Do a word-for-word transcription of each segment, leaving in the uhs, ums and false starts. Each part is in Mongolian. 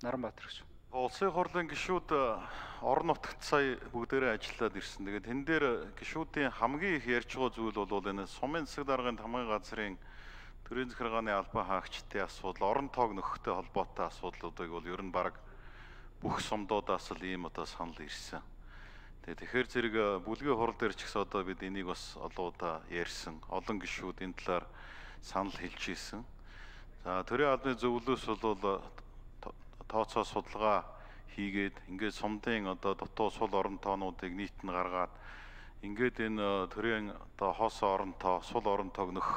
Наранбаатар гэж. Улсын хурлын гишүүд орон нутагт сая бүгдээрээ ажиллаад ирсэн. Тэгээд тэн дээр гишүүдийн хамгийн их ярьж байгаа зүйл бол энэ сумын засаг даргын хамгийн газрын төрийн захиргааны албан хаагчдын асуудал, орон тоог нөхөхтэй холбоотой асуудлуудыг бол ер нь баг бүх сумдуудаас л ийм одоо санал ирсэн. Тэгээд тэгэхээр зэрэг бүлгийн хурал дээр ч гэсэн одоо бид энийг бас олон удаа ярьсан. Олон гишүүд энэ талаар санал хэлж ийсэн. За төрийн албаны зөвлөлөөс бол тооцоо судалгаа хийгээд ингээд сумдын одоо дутуу сул орон тоонуудыг нийт нь гаргаад ингээд энэ төрийн одоо хос орон тоо, сул орон тоог нөх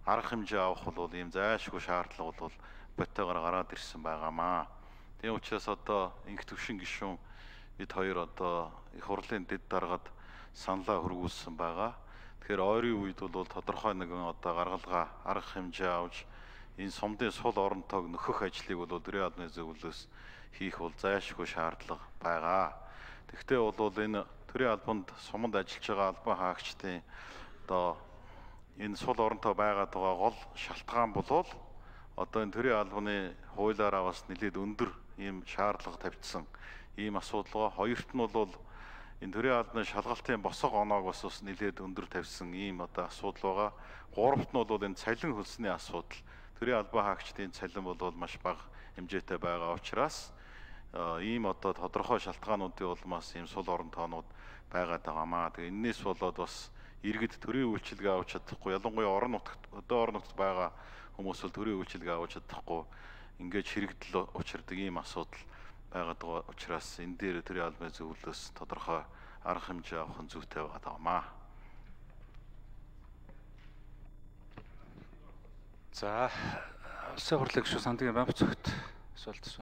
арга хэмжээ авах бол ийм зайлшгүй шаардлага бол бодтойгоор гараад ирсэн байгаамаа. Тийм учраас одоо инх төвшин гишүүн бид хоёр одоо их хурлын дэд даргад саналаа хөргүүлсэн байгаа. Тэгэхээр ойрын үед бол тодорхой нэгэн одоо гаргалгаа арга хэмжээ авч энэ сумдын сул орон тоог нөхөх ажлыг бол төрийн албаны зөвлөлөөс хийх бол зайлшгүй шаардлага байгаа. Тэгвэл бол энэ төрийн албанд суманд ажиллаж байгаа албан хаагчдын одоо энэ сул оронтой байгаад байгаа гол шалтгаан бол одоо энэ төрийн албаны хуулиараа бас нэлээд өндөр ийм шаардлага тавьчихсан ийм асуудал. Хоёрт нь бол энэ төрийн албаны шалгалтын босго оноог бас бас нэлээд өндөр тавьсан ийм одоо асуудал байгаа. Гуравт нь бол энэ цалин хөлсний асуудал. Төрийн албан хаагчдын цалин бол маш бага хэмжээтэй байгаа учраас ийм одоо тодорхой шалтгаануудын улмаас ийм сул орон тоонууд байгаад байгаамаа. Тэгээ энэс болоод бас иргэд төрийн үйлчилгээ авч чадахгүй, ялангуяа орон нутагт одоо орон нутагт байгаа хүмүүс бол төрийн үйлчилгээ авч чадахгүй ингээд хэрэгдэл учирдаг ийм асуудал байгаад байгаа учраас энэ дээр төрийн албаны зөвлөлөөс тодорхой арга хэмжээ авах нь зүйтэй байгаад байгаамаа. За улсын хурлын гишүүн Сандгийн Бямб зөвхт асуулт